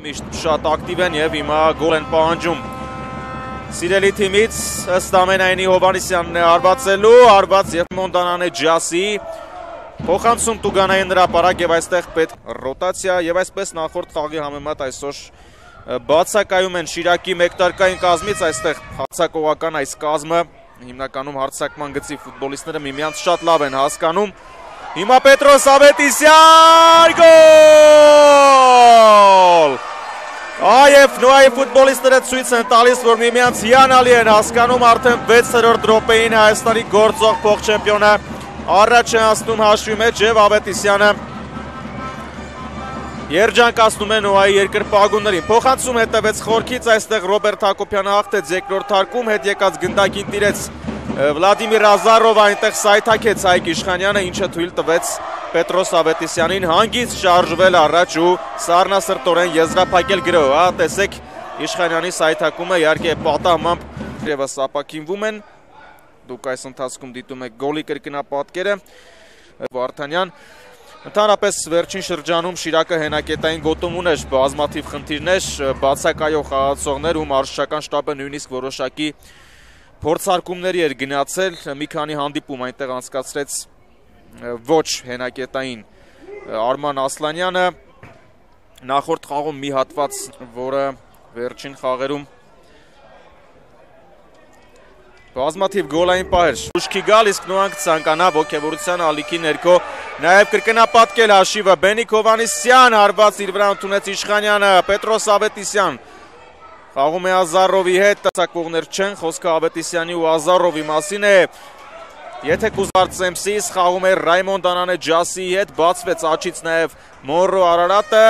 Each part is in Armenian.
միշտ շատ ակտիվ են եւ հիմա գոլ են պահանջում սիրելի թիմից ըստ ամենայնի Հովհաննիսյանն է արվածելու, արված եւ Մոնդանան է Ջասի փոխանցում Տուգանային հրապարակ եւ այստեղ պետք ռոտացիա եւ այսպես նախորդ խաղի համեմատ այսօր բացակայում են Շիրակի մեկտարկային կազմից, այստեղ հարձակողական այս կազմը հիմնականում հարձակման գծի ֆուտբոլիստները միմյանց շատ լավ են հասկանում։ Հիմա Պետրոս Ավետիսյան գոլ! Այև նոյի ֆուտբոլիստները ցույց են տալիս, որ միմյանց հիանալի են հասկանում, արդեն 6-րդ րոպեին Հայաստանի գործող փոխչեմպիոնը առաջ է անցնում հաշվի մեջ եւ Ավետիսյանը երջանկացնում է նոյի երկրպագուներին։ Փոխանցում հետևեց խորքից, այստեղ Ռոբերտ Հակոբյանը հաղթեց երկրորդ թարկում, հետ եկած գնդակին տիրեց Վլադիմիր Ազարովը, այնտեղ սայթաքեց Հայկ Իշխանյանը, ինչը թույլ տվեց Պետրոս Ավետիսյանին հանգիստ շարժվել առաջ ու սառնասրտորեն եզրափակել գրոհը։ Տեսեք Իշխանյանի սայթակումը, իհարկե պատահմամբ եւս ապակինվում են։ Դուք այս ընթացքում դիտում եք գոլի կրկնապատկերը։ Վարդանյան ընդհանրապես վերջին շրջանում Շիրակը հենակետային գոտում ուներ բազմաթիվ խնդիրներ, բացակայող խաղացողներ ու մարզչական շտաբը նույնիսկ որոշակի փորձարկումների էր գնացել, մի քանի հանդիպում այնտեղ անցկացրեց ոչ հենակետային Արման Ասլանյանը, նախորդ խաղում մի հատված, որը վերջին խաղերում բազմաթիվ գոլային պահեր ուշքի գալ, իսկ նոյանք ցանկանա ոգևորության ալիքի ներքո նաև կրկնապատկել հաշիվը։ Բենիկ Հովհաննիսյան հարված իր վրա ընդունեց Իշխանյանը, Պետրոս Ավետիսյան խաղում է Ազարովի հետ, տասակվողներ չեն, խոսքը Ավետիսյանի ու Ազարովի մասին է։ Եթե կուզարցեմ սիս խաղում է Ռայմոնդանան է Ջասիի հետ, բացվեց աչից նաև Մորրո Արարատը,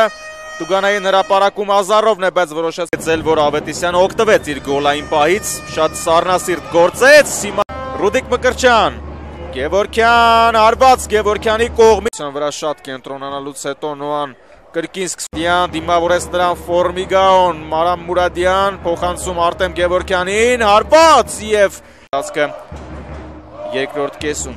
Տուգանային հրապարակում Ազարովն է, բայց որոշեցել, որ Ավետիսյանը օգտվեց իր գոլային պահից, շատ սառնասիրտ գործեց, հիմա Ռուդիկ Մկրտչյան, Գևորգյան, արված Գևորգյանի կողմից վրա շատ կենտրոնանալուց հետո Նոան կրկին սկսդյան, դիմավորեց նրան Ֆորմիգաոն, Մարամ Մուրադյան, փոխանցում Արտեմ Գևորգյանին, հարված և երկրորդ կեսում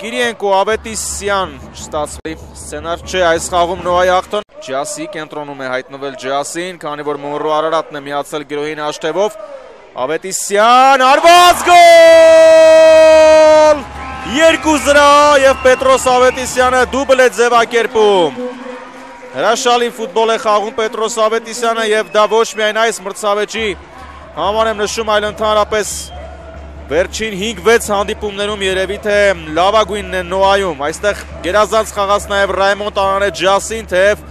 Կիրիենկո Ավետիսյան չստացվի սցենար չէ այս խաղում Նոյի հաղթան Ջասի կենտրոնում է հայտնվել Ջասին, քանի որ Մորրո Արարատն է միացել գրոհին հաշտևով Ավետիսյան, արված գոլ 2-0 և Պետրոս Ավետիսյանը դուբլ է ձևակերպում Հրաշալի ֆուտբոլ է խաղում Պետրոս Ավետիսյանը և դա ոչ միայն այս մրցավեճի համար եմ նշում, այլ ընդհանրապես վերջին 5-6 հանդիպումներում երևի թե լավագույնն է Նոայում, այստեղ գերազանց խաղաց նաև Ռայմոնդանան է Ջասին, թեև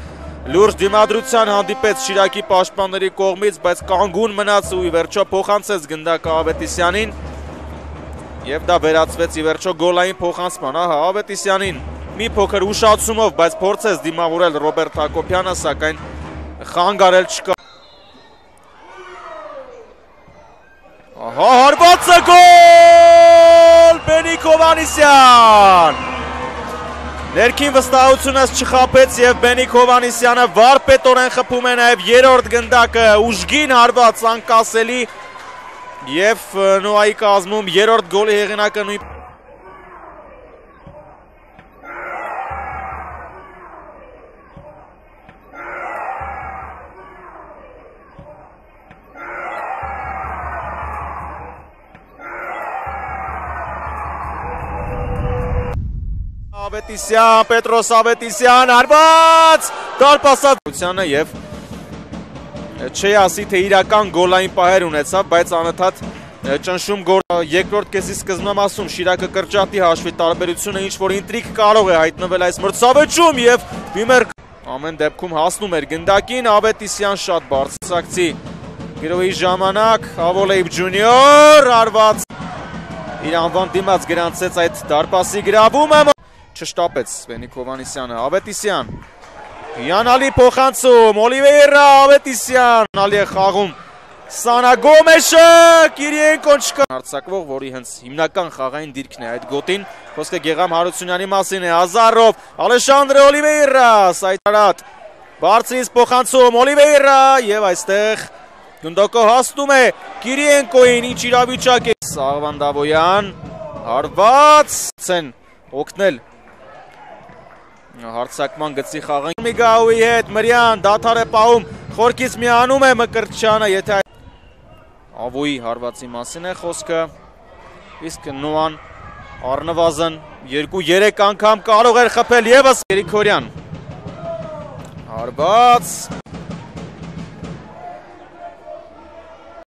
լուրջ դիմադրության հանդիպեց Շիրակի պաշտպանների կողմից, բայց կանգուն մնաց ու ի վերջո փոխանցեց գնդակը Ավետիսյանին և դա վերածվեց ի վերջո գոլային փոխանցման, ահա Ավետիսյանին մի փոքր ուշացումով, բայց փորձեց դիմավորել Ռոբերտ Հակոբյանը, սակայն խանգարել չկա Ահա հարվածը գոլ Բենիկ Հովհաննիսյան Ներքին վստահությունս չխաբեց և Բենիկ Հովհաննիսյանը վարպետորեն խփում է նաև երրորդ գնդակը ուժգին հարված անկասելի և Նոյի կազմում երրորդ գոլի հեղինակը նույն Ավետիսյան, Պետրոս Ավետիսյան, արված դարպասացությանը և չի ասի, թե իրական գոլային պահեր ունեցավ, բայց անընդհատ ճնշում գոլ երկրորդ կեսի սկզբնամասում Շիրակը կրճատի հաշվի տարբերությունը ինչ-որ ինտրիգ կարող է հայտնվել այս մրցավեճում և Բիմեր ամեն դեպքում հասնում էր գնդակին, Ավետիսյան շատ բարձրացակցի գրոհի ժամանակ, Ավոլեիբ ջունիոր, արված իր անվան դիմաց գրանցեց այդ դարպասի գրավումը Չշտապեց Բենիկ Հովհաննիսյանը, Ավետիսյան, հիանալի փոխանցում, Օլիվեյրա, Ավետիսյան, հիանալի է խաղում Սանա Գոմեշը, Կիրիենկոն չկա Հարձակվող, որի հենց հիմնական խաղային դիրքն է այդ գոտին, խոսքը Գեգամ Հարությունյանի մասին է, Ազարով, Ալեշանդրե Օլիվեյրա, Սայթարատ, բարձրից փոխանցում, Օլիվեյրա և այստեղ գնդակը հասնում է Կիրիենկոին, ինչ իրավիճակ է Սաղվան Դավոյան, հարված են օգնել Հարցակման գծի խաղան Միգաուի հետ Մրյան դադար է պահում խորքից միանում է Մկրտչյանը, եթե Ավոյի հարվածի մասին է խոսքը, իսկ Նոան առնվազն 2-3 անգամ կարող էր խփել ևս Երիքորյան, հարված